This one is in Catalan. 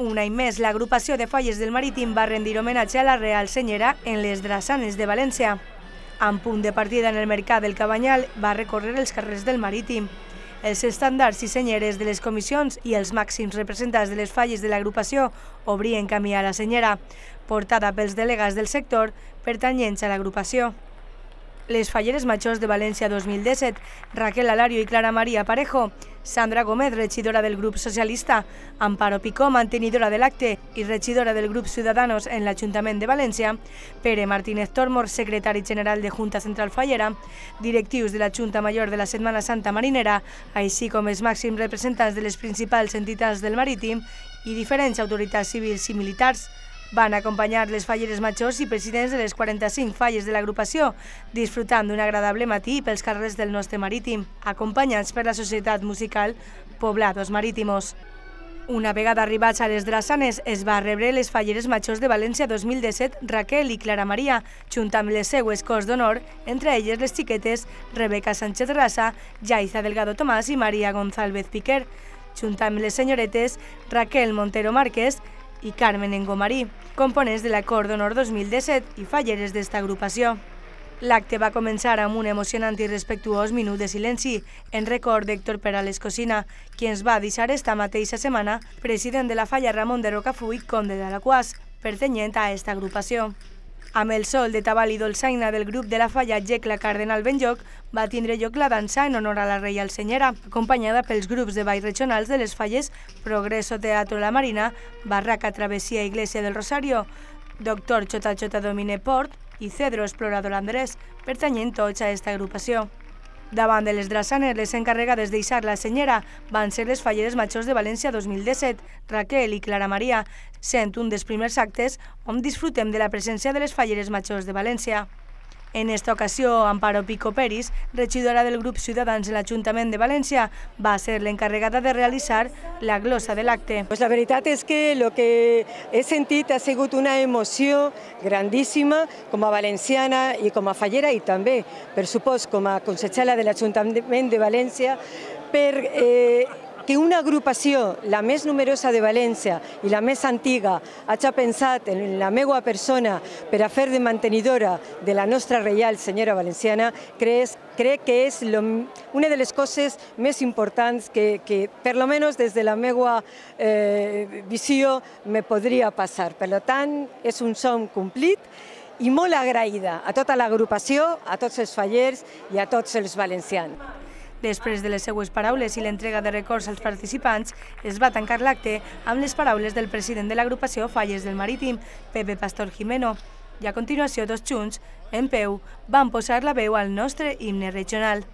Un any més, l'agrupació de Falles del Marítim va rendir homenatge a la Real Senyera en les Drassanes de València. Amb punt de partida en el Mercat del Cabanyal, va recórrer els carrers del Marítim. Els estandards i senyeres de les comissions i els màxims representants de les falles de l'agrupació obrien camí a la senyera, portada pels delegats del sector pertanyents a l'agrupació. Les Falleres Majors de València 2017, Raquel Alario i Clara María Parejo, Sandra Gómez, regidora del grup socialista, Amparo Picó, mantenidora de l'acte i regidora del grup Ciudadanos en l'Ajuntament de València, Pere Martínez Tormor, secretari general de Junta Central Fallera, directius de la Junta Major de la Setmana Santa Marinera, així com els màxims representants de les principals entitats del Marítim i diferents autoritats civils i militars, van acompanyar les Falleres Majors i presidents de les 45 falles de l'agrupació, disfrutant d'un agradable matí pels carrers del nostre Marítim, acompanyats per la Societat Musical Poblados Marítimos. Una vegada arribats a les Drassanes, es va rebre les Falleres Majors de València 2017, Raquel i Clara Maria, junt amb les seues cors d'honor, entre elles les xiquetes Rebeca Sánchez Rasa, Yaiza Delgado Tomàs i Maria González Piquer, junt amb les senyoretes Raquel Montero Márquez i Carmen Engomarí, components de l'Acord d'Honor 2017 i falleres d'esta agrupació. L'acte va començar amb un emocionant i respectuós minut de silenci en record d'Héctor Perales Cosina, qui ens va deixar esta mateixa setmana president de la falla Ramon de Rocafull, conde d'Alaquàs, pertanyent a esta agrupació. Amb el sol de tabal i dolçaina del grup de la falla Jecla Cardenal Benlloc, va tindre lloc la dansa en honor a la Reial Senyera, acompanyada pels grups de ball regionals de les falles Progreso Teatro La Marina, Barraca Travesía Iglesia del Rosario, Doctor Chota Chota Domine Port i Cedro Explorador Andrés, pertanyent tots a esta agrupació. Davant de les Drassanes, les encarregades d'eixar la senyera van ser les Falleres Majors de València 2017, Raquel i Clara Maria, sent un dels primers actes on disfrutem de la presència de les Falleres Majors de València. En esta ocasió, Amparo Picó Peris, regidora del grup Ciutadans en l'Ajuntament de València, va ser l'encarregada de realitzar la glosa de l'acte. La veritat és que el que he sentit ha sigut una emoció grandíssima com a valenciana i com a fallera i també, per supost, com a consellera de l'Ajuntament de València, per que una agrupació, la més numerosa de València i la més antiga, hagi pensat en la meva persona per a fer de mantenidora de la nostra Reial Senyera Valenciana, crec que és una de les coses més importants que per almenys des de la meva visió, me podria passar. Per tant, és un somni complit i molt agraïda a tota l'agrupació, a tots els fallers i a tots els valencians. Després de les seues paraules i l'entrega de records als participants, es va tancar l'acte amb les paraules del president de l'agrupació Falles del Marítim, Pepe Pastor Jimeno, i a continuació tots junts, en peu, van posar la veu al nostre himne regional.